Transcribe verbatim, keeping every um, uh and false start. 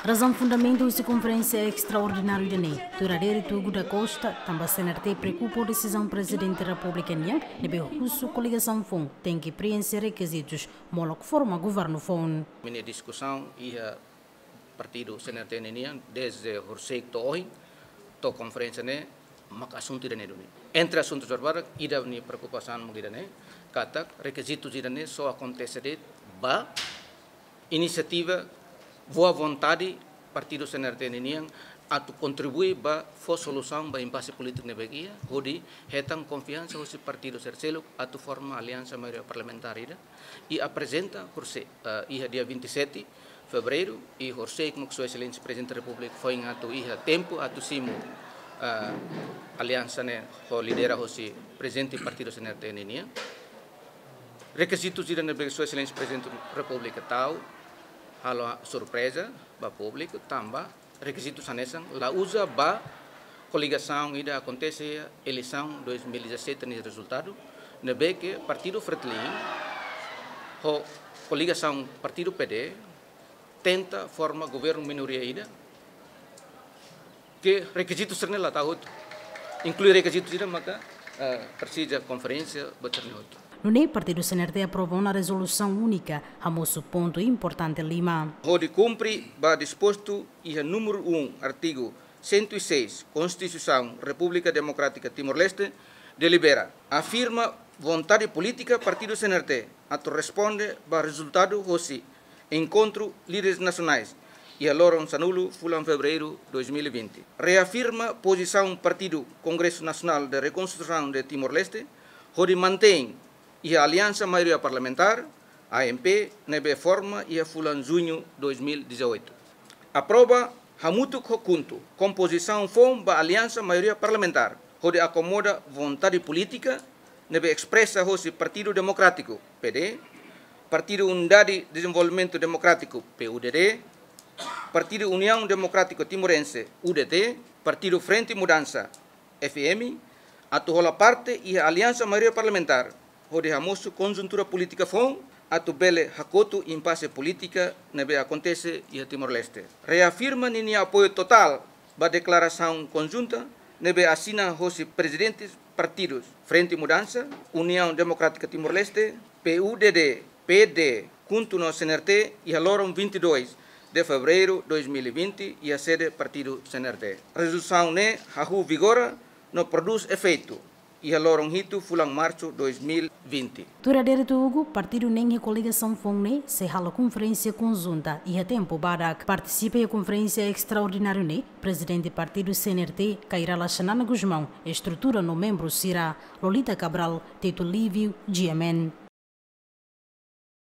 Razaun fundamentu husi konferénsia estraordináriu ida-ne'e, tuir adere Tugu da Costa, tanba C N R T preokupa ho desizaun Prezidente Repúblika nian, ne'ebé husu koligasaun foun tenke preenxe rekizitus molok forma governu foun. Imi-nia diskusaun iha partidu C N R T ninian, dezde horisehik to'o ohin, to'o konferénsia ne'e, mak asuntu ida-ne'e duni. Entre asuntu sira barak, ida-ne'e preokupasaun mak ida-ne'e, katak rekizitu ida-ne'e só akontese de'it ba inisiativa, boa vontade partidu C N R T ninian atu kontribui ba fó solusaun ba impase polítiku ne'ebé iha, hodi hetan konfiansa husi partidu sira seluk atu forma aliansa maioria parlamentár ida, i aprezenta horisehik, eh, iha dia vinte e sete fevereiru, i horisehik mak Sua Exelénsia Prezidente Repúblika foin atu iha tempu atu simu, eh, aliansa ne'e ho lidera hosi Prezidente partidu C N R T ninian. Rekizitu ida ne'ebé Sua Exelénsia Prezidente Repúblika tau, halo surpreza ba públiku, tanba rekizitu hanesan la uza ba koligasaun ida akontese eleisaun dois mil e dezassete nia rezultadu, ne'ebé ke partidu Fretilin ho koligasaun partidu P D tenta forma governu minoria ida, ke rekizitu sira-ne'e la tau hotu. Inklui rekizitu sira maka, eh, presiza konferénsia ba sira-ne'e hotu. Nune'e partidu C N R T aprova ona rezolusaun únika, hamosu pontu importante lima. Hodi kumpre ba dispostu iha númeru um, artigu cento e seis, Konstituisaun Repúblika Demokrátika Timor-Leste, delibera, afirma vontade polítika partidu C N R T atu responde ba rezultadu hosi enkontru líderes nasionais iha loron sanulu fulan fevereiru dois mil e vinte. Reafirma pozisaun partidu Kongresu Nasionál de Rekonstrusaun de Timor-Leste, hodi mantein iha aliansa maioria parlamentár, A M P, ne'ebé forma iha fulan juñu dois mil e dezoito. Aprova hamutuk ho KHUNTO kompozisaun foun ba aliansa maioria parlamentár, hodi akomoda vontade polítika ne'ebé espresa hosi Partidu Demokrátiku, P D, Partidu Unidade Dezenvolvimentu Demokrátiku, P U D D, Partidu Uniaun Demokrátika Timorense, U D T, Partidu Frente Mudansa, F M, atu hola parte iha aliansa maioria parlamentár, hodi hamosu konjuntura polítika foun, atu bele hakotu impase polítika ne'ebé akontese iha Timor-Leste. Reafirma ninia apoiu totál ba deklarasaun konjunta ne'ebé asina hosi prezidentes partidus Frente Mudansa, Uniaun Demokrátika Timor-Leste, P U D D, P D, KHUNTO no C N R T, iha loron vinte e dois de fevereiru dois mil e vinte, iha sede partidu C N R T. Rezolusaun ne'e hahú vigora no prodús efeitu iha loron hitu fulan marsu dois mil e vinte. Tuir adere Tugu, partidu neen iha koligasaun foun ne'e sei halo konferénsia konjunta iha tempu badak. Partisipa iha konferénsia estraordináriu ne'e Prezidente partidu C N R T, Kay Rala Xanana Gusmão, estrutura no membru sira. Lolita Cabral, Tito Lívio, G M N.